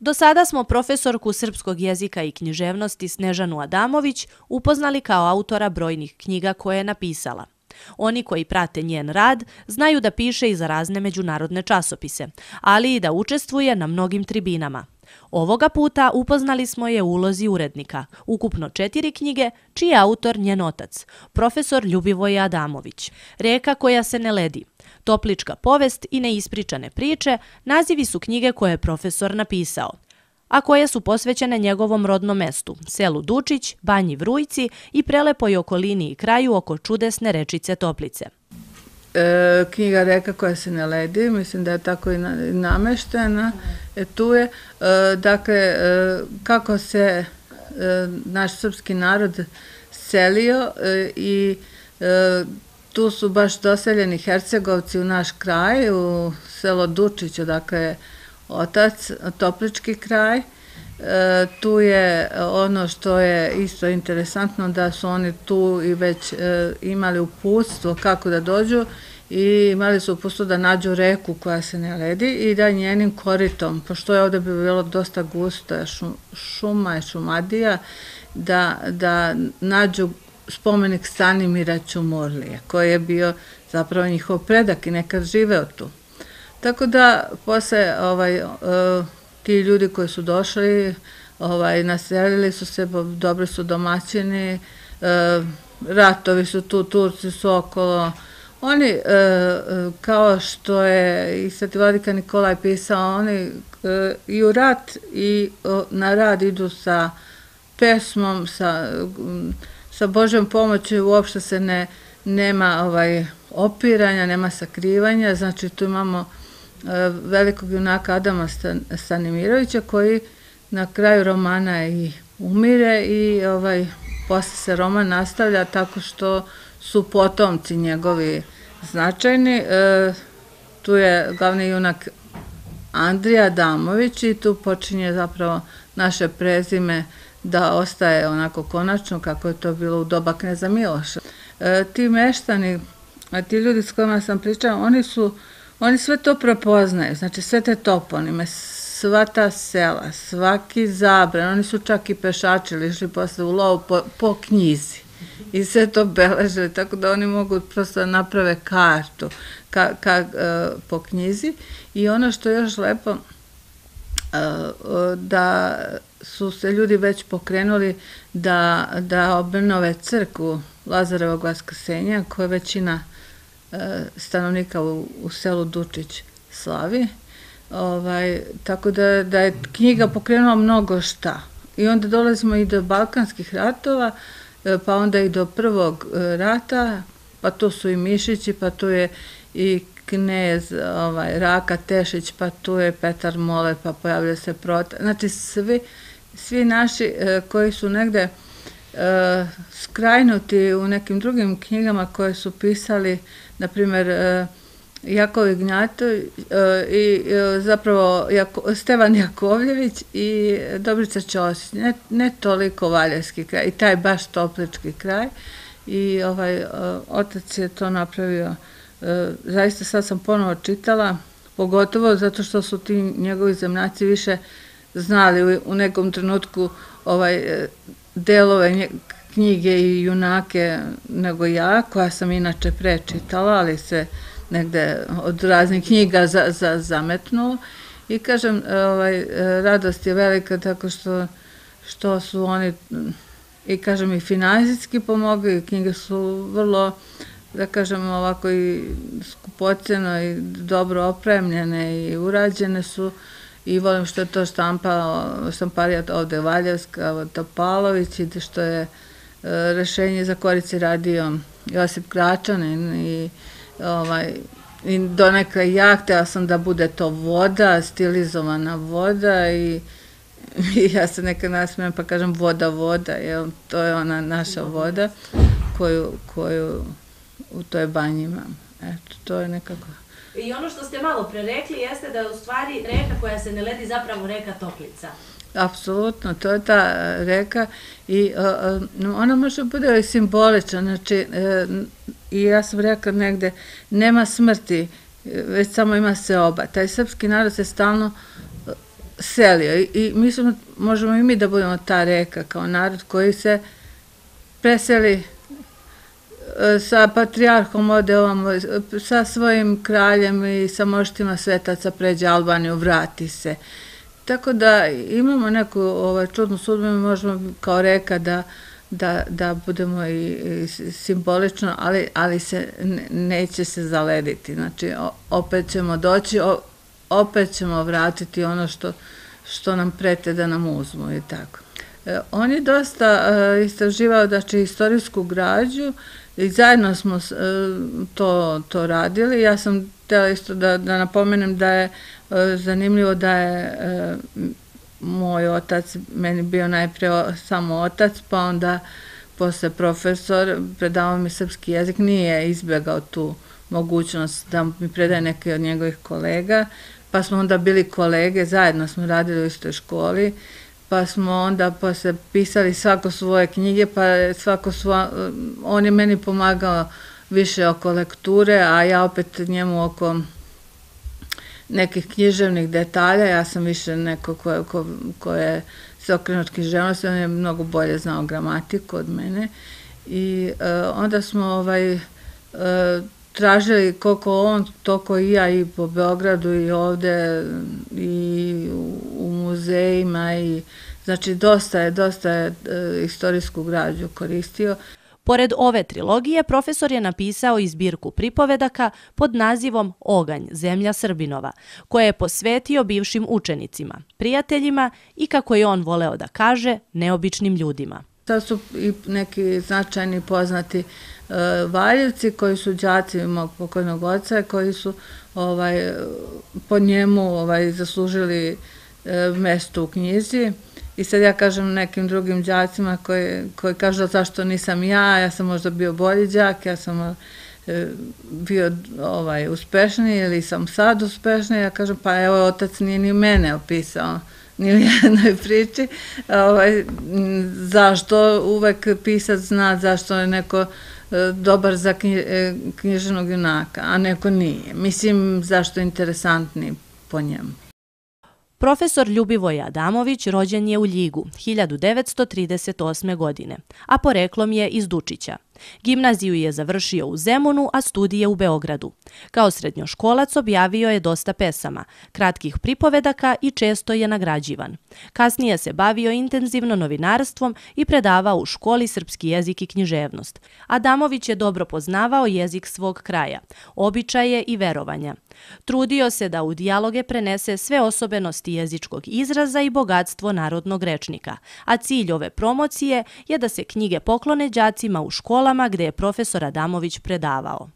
Do sada smo profesorku srpskog jezika i književnosti Snežanu Adamović upoznali kao autora brojnih knjiga koje je napisala. Oni koji prate njen rad znaju da piše i za razne međunarodne časopise, ali i da učestvuje na mnogim tribinama. Ovoga puta upoznali smo je u ulozi urednika, ukupno 4 knjige, čiji je autor njen otac, profesor Ljubivoje Adamović. Reka koja se ne ledi, Toplička povest i neispričane priče nazivi su knjige koje je profesor napisao, a koje su posvećene njegovom rodnom mestu, selu Dučić, Banji Vrujci i prelepoj okolini i kraju oko čudesne rečice Toplice. Knjiga Reka koja se ne ledi, mislim da je tako i nameštena, tu je, dakle, kako se naš srpski narod selio i tu su baš doseljeni Hercegovci u naš kraj, u selo Dučić, odakle je otac, Toplički kraj. Tu je ono što je isto interesantno, da su oni tu i već imali uputstvo kako da dođu i imali su uputstvo da nađu reku koja se ne ledi i da njenim koritom, pošto je ovde bi bilo dosta gusta šuma i šumadija, da nađu spomenik Stanimira Ćumurlije, koji je bio zapravo njihov predak i nekad živeo tu. Tako da posle ti ljudi koji su došli, naselili su se, dobri su domaćini, ratovi su tu, Turci su okolo. Oni, kao što je i Sveti vladika Nikolaj pisao, oni i u rat i na rad idu sa pesmom, sa Božjom pomoći, uopšte se nema opiranja, nema sakrivanja, znači tu imamo velikog junaka Adama Stanimirovića koji na kraju romana i umire i posle se roman nastavlja tako što su potomci njegovi značajni. Tu je glavni junak Andrija Adamović i tu počinje zapravo naše prezime da ostaje onako konačno kako je to bilo u doba kneza Miloša. Ti meštani, ti ljudi s kojima sam pričala, oni sve to prepoznaju, znači sve te toponime, sva ta sela, svaki zabran, oni su čak i pešačili, išli posle u lov po knjizi i sve to beležili, tako da oni mogu prosto da naprave kartu po knjizi. I ono što je još lepo, da su se ljudi već pokrenuli da obnove crkvu Lazarevog vaskrsenja, koje većina stanovnika u selu Dučić slavi. Tako da je knjiga pokrenula mnogo šta. I onda dolazimo i do Balkanskih ratova, pa onda i do Prvog rata, pa tu su i Mišići, pa tu je i knez Raka Tešić, pa tu je Petar Mole, pa pojavlja se Protar. Znači svi naši koji su negde skrajnuti u nekim drugim knjigama koje su pisali, na primjer Jakov Ignjatović i zapravo Stevan Jakovljević i Dobrica Ćosić, ne toliko Valjevski kraj i taj baš Toplički kraj i otac je to napravio. Zaista sad sam ponovo čitala, pogotovo zato što su ti njegovi zemljaci više znali u nekom trenutku delove knjige i junake nego ja, koja sam inače prečitala, ali se negde od raznih knjiga zametnulo. I kažem, radost je velika tako što su oni, i kažem, i finansijski pomogli, knjige su vrlo, da kažem, ovako i skupoceno i dobro opremljene i urađene su. I volim što je to štamparija ovde Valjevska, Topalović i što je rešenje za korici radio Josip Gračanin i donekle ja htela sam da bude to voda, stilizovana voda i ja se nekad nasmijem pa kažem voda, jer to je ona naša voda koju u toj banji imam. Eto, to je nekako. I ono što ste malo pre rekli jeste da je u stvari reka koja se ne ledi zapravo reka Toplica. Apsolutno, to je ta reka i ona može bude i simbolična, znači i ja sam rekla negde, nema smrti, već samo ima seoba. Taj srpski narod se selio i mislim, možemo i mi da budemo ta reka kao narod koji se preseli sa patrijarhom, ode ovamo, sa svojim kraljem i sa moštima svetaca pređe Albaniju, vrati se. Tako da imamo neku čudnu sudbinu, možemo kao reka da budemo i simbolično, ali neće se zalediti. Znači, opet ćemo doći, opet ćemo vratiti ono što nam prete da nam uzmu i tako. On je dosta istraživao, znači, istorijsku građu i zajedno smo to radili. Ja sam htjela isto da napomenem da je zanimljivo da je moj otac meni bio najpre samo otac, pa onda posle profesor, predavao mi srpski jezik, nije izbjegao tu mogućnost da mi predaje neki od njegovih kolega, pa smo onda bili kolege, zajedno smo radili u istoj školi, pa smo onda posle pisali svako svoje knjige, pa on je meni pomagao više oko lekture, a ja opet njemu oko nekih književnih detalja. Ja sam više neko ko je se okrenut književnosti, on je mnogo bolje znao gramatiku od mene i onda smo tražili koliko on, toliko i ja i po Beogradu i ovde i u muzejima i znači dosta je istorijsku građu koristio. Pored ove trilogije, profesor je napisao i zbirku pripovedaka pod nazivom Oganj, zemlja Srbinova, koje je posvetio bivšim učenicima, prijateljima i, kako je on voleo da kaže, neobičnim ljudima. Sad su i neki značajni poznati Valjevci koji su đaci mog pokojnog oca, koji su po njemu zaslužili mesto u knjizi. I sad ja kažem nekim drugim đacima koji kažu zašto nisam ja sam možda bio bolji đak, ja sam bio uspešniji ili sam sad uspešniji, ja kažem pa evo otac nije ni mene opisao ni u jednoj priči, zašto uvek pisac zna zašto je neko dobar za književnog junaka, a neko nije. Mislim, zašto je interesantniji po njemu. Profesor Ljubivoj Adamović rođen je u Ljigu 1938. godine, a poreklom je iz Dučića. Gimnaziju je završio u Zemunu, a studije u Beogradu. Kao srednjoškolac objavio je dosta pesama, kratkih pripovedaka i često je nagrađivan. Kasnije se bavio intenzivno novinarstvom i predavao u školi srpski jezik i književnost. Adamović je dobro poznavao jezik svog kraja, običaje i verovanja. Trudio se da u dijaloge prenese sve osobenosti jezičkog izraza i bogatstvo narodnog rečnika, a cilj ove promocije je da se knjige poklone đacima u školama gde je profesor Adamović predavao.